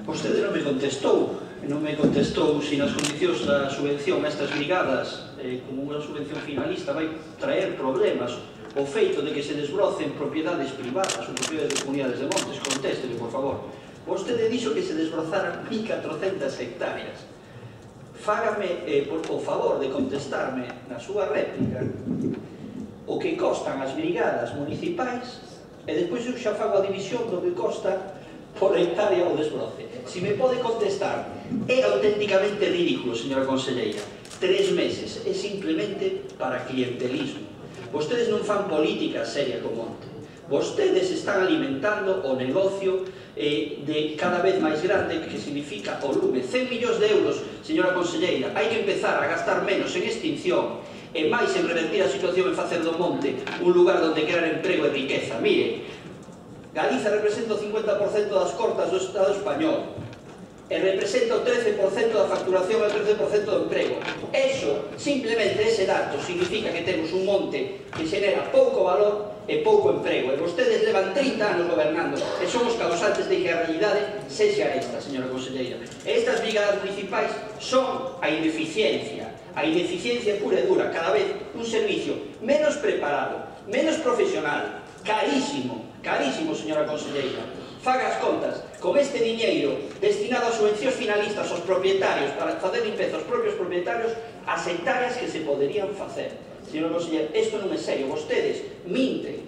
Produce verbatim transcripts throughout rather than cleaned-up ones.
Vostede non me contestou, non me contestou se nas condicións da subvención a estas brigadas, eh, como unha subvención finalista, vai traer problemas o feito de que se desbrocen propiedades privadas ou propiedades de comunidades de montes. Contésteme, por favor. Vostede dixo que se desbrozaran mil catrocentas hectáreas. Fágame eh, por o favor de contestarme na súa réplica o que costan as brigadas municipais e despois eu xa fago a división do que costa por hectárea o desbroce. Si me pode contestar, é auténticamente ridículo, señora conselleira. Tres meses é simplemente para clientelismo. Vostedes non fan política seria co monte. Vostedes están alimentando o negocio eh, de cada vez máis grande que significa o lume. cen millóns de euros, señora conselleira. Hai que empezar a gastar menos en extinción e máis en revertir a situación e facer do monte un lugar onde crear emprego e riqueza. Mire, Galiza representa o cincuenta por cento das cortas do Estado español e representa o trece por cento da facturación e o trece por cento do emprego. Eso, simplemente ese dato, significa que temos un monte que xenera pouco valor e pouco emprego. E vostedes levan trinta anos gobernando e son os causantes de que a realidade sexa esta, señora conselleira. Estas brigadas municipais son a ineficiencia, a ineficiencia pura e dura, cada vez un servicio menos preparado, menos profesional, carísimo, carísimo, señora conselleira. Faga as contas, con este diñeiro destinado a subvencións finalistas aos propietarios para facer limpeza aos propios propietarios, as hectáreas que se poderían facer. Señora conselleira, isto non é serio. Vostedes minten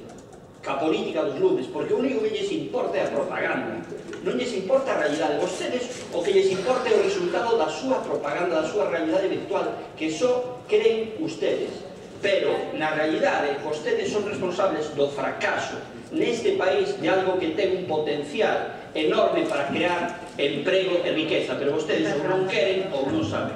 ca política dos lumes, porque o único que lles importa é a propaganda, non lles importa a realidade. Vostedes o que lles importa é o resultado da súa propaganda, da súa realidade virtual, que só creen ustedes. Pero, na realidade, vostedes son responsables do fracaso neste país de algo que ten un potencial enorme para crear emprego e riqueza, pero vostedes ou non queren ou non saben.